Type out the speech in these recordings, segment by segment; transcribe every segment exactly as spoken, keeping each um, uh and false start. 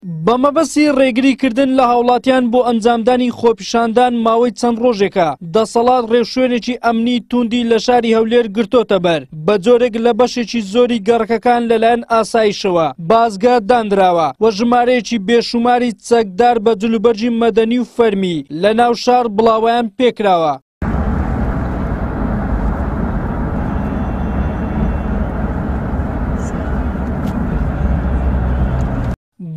بە مەبەستی ڕێگریکردن لە هاوڵاتیان بۆ ئەنجامدانی خۆپیشاندان ماوەی چەند ڕۆژێکە دەسەڵات ڕێوشوێنێکی ئەمنی توندی لە شاری هەولێر گرتۆتە بەر، بە جۆرێک لە بەشێکی زۆری گەڕەکەکان لەلایەن ئاسایشەوە بازگە دانراوە و ژمارەیەکی بێشوماری چەکدار بە جلوبەرگی مەدەنی و فەرمی لە ناو شار بڵاوەیان پێکراوە.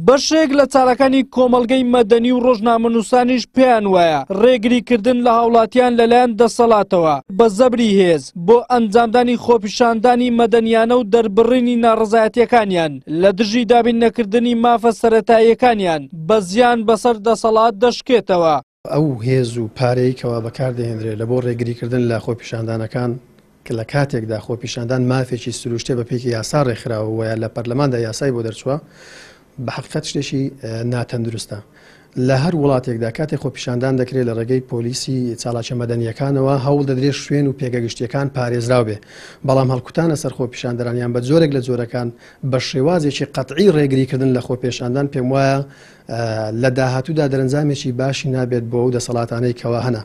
بەشێک لە چالاکانی کۆمەڵگەی مەدەنی و ڕۆژنامەنووسانیش پێیان وایە ڕێگریکردن لە هاوڵاتیان لەلایەن دەسەڵاتەوە بە زەبری هێز بۆ ئەنجامدانی خۆپیشاندانی مەدەنیانە و دەربڕینی ناڕەزایەتیەکانیان لە دژی دابین نەکردنی مافە سەرەتاییەکانیان بە زیان بەسەر دەسەڵات دەشکێتەوە. ئەو هێز و پارەی کەوا بەکاردەهێنرێت لە بۆ ڕێگریکردن لە خۆپیشاندانەکان کە لە کاتێکدا خۆپیشاندان مافێکی سروشتێ بە پێکی یاسا ڕێکخراوە و لە پەرلەماندا یاسای بۆ دەرچووە، بە حەقیقەت شتێکی ناتەندروستە. لە هەر وڵاتێکدا کاتێک خۆپیشاندان دەکرێت لە ڕێگەی پۆلیسی چالاکیە مەدەنیەکانەوە هەوڵ دەدرێت شوێن و پێگە گشتیەکان پارێزراو بێ، بەڵام هەڵکوتانە سەر خۆپیشاندەرانیان بە جۆرێک لە جۆرەکان بە شێوازێکی قەتعی ڕێگریکردن لە خۆپێشاندان پێم وایە لە داهاتوودا دەرەنجامێکی باشی نابێت بۆ ئەو دەسەڵاتانەی کەوا هەنە.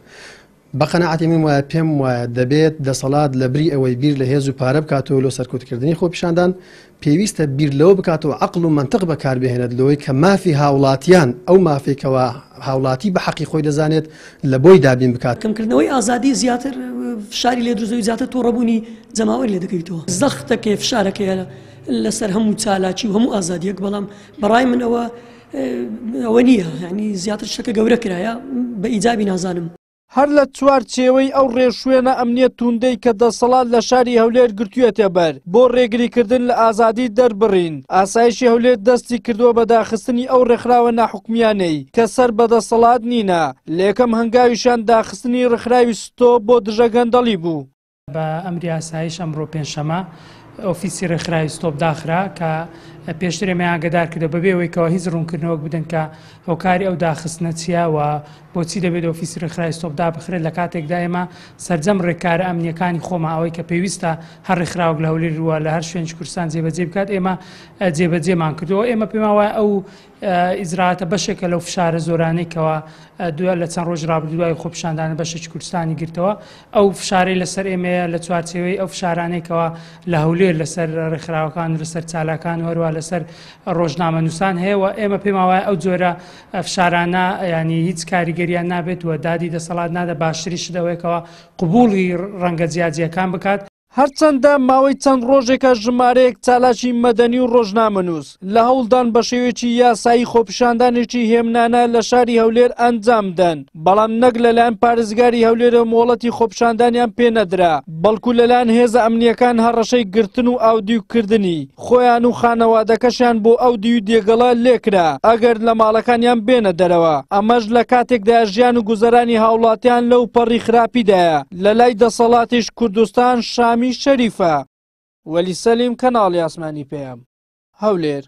بە قەناعەتی من وایە پێم وایە دەبێت دەسەڵات لە بری ئەوەی بیر لە هێز و پارە بکاتەوە لۆ سەرکوتکردنی خۆپیشاندان، پێویستە بیر لەوە بکاتەوە عەقڵ و مەنتق بەکاربهێنێت لەوەی کە مافی هاوڵاتیان ئەو مافێکەوە هاوڵاتی بە حەقی خۆی دەزانێت لە بۆی دابین بکات. کەمکردنەوەی ئازادی زیاتر فشاری لێ دروست زیاتر تووڕەبوونی جەماوەری لێ دەکەویتەوە، زەختەکەی فشارەکەیە لەسەر هەموو چالاکی و هەموو ئازادیەک، بەڵام بەڕای من ئەوە ئەوە نییە، یعنی زیاتر شتەکە گەورە کرایە بە ئیجابی نازانم. هەر لە چوارچێوەی ئەو ڕێوشوێنە ئەمنیە توندەی کە دەسەڵات لە شاری هەولێر گرتوویەتە بەر بۆ ڕێگریکردن لە ئازادی دەربڕین، ئاسایشی هەولێر دەستی کردووە بە داخستنی ئەو ڕێکخراوە ناحکومیانەی کە سەر بە دەسەڵات نینە. لە یەکەم هەنگاویشان داخستنی ڕێکخراوی ستۆپ بۆ دژە گەندەڵی بوو. بە ئەمری ئاسایش ئەمڕۆ پێنجشەممە ئۆفیسی ڕێکخراوی ستۆپ داخرا کە پێشتر ئێمەیان ئاگادار کردەوە بەبێ ئەوەی کەەوە هیچ ڕوونکردنەوەک بدەن کە هۆکاری ئەو داخستنە چییە و بۆچی دەبێت ئۆفیسی ڕێکخراوی ستۆپ دابخرێت لە کاتێکدا ئێمە سەرجەم ڕێکارە ئەمنیەکانی خۆمان ئەوەی کە پێویستە هەر ڕێکخراوێک لە هەولێر وە لە هەر شوێنی کوردستان جێبەجێ بکات ئێمە جێبەجێمان کردەوە. ئێمە پێمان وایە ئەو ئیجراتە بەشێکە لەو فشارە زۆرانەی کەوا دوای لە چەند ڕۆژ ڕابردوو دوای خۆپیشاندانە بەشێکی کوردستانی گرتەوە. ئەو فشارەی لەسەر ئێمەیە لە چوارچێوەی ئەو فشارانەی کەوا لە هەولێر لەسەر ڕێکخراوەکان و لەسەر چالاکان و هەروە لەسەر ڕۆژنامەنووسان هەیە و ئێمە پێمان وایە ئەو جۆرە فشارانە ینی هیچ کاریگەریان نابێت و دادی دەسەڵات نادە، باشتریش دەوەیەکەوە قبوڵی ڕەنگە جیاجیەکان بکات. هەرچەندە ماوەی چەند ڕۆژێکە ژمارەیەک چالاکی مەدەنی و ڕۆژنامەنووس لە هەوڵدان بە شێوەیەکی یاسایی خۆپیشاندانێکی هێمنانە لە شاری هەولێر ئەنجام دەن، بەڵام نەک لەلایەن پارێزگاری هەولێرەوە مۆڵەتی خۆپیشاندانیان پێنەدرا، بەڵکو لەلایەن هێزە ئەمنیەکان هەڕەشەی گرتن و ئاودیوکردنی خۆیان و خانەوادەکەشیان بۆ ئەو دیو دێگەڵە لێکرا ئەگەر لە ماڵەکانیان بێنە دەرەوە. ئەمەش لە کاتێکدا ژیان و گوزەرانی هاوڵاتیان لەو پەڕی خراپیدایە. لە لای دەسەڵاتیش کوردستان شامی شەریفە. وەلی سەلیم، کەناڵی ئاسمانی پەیام، هەولێر.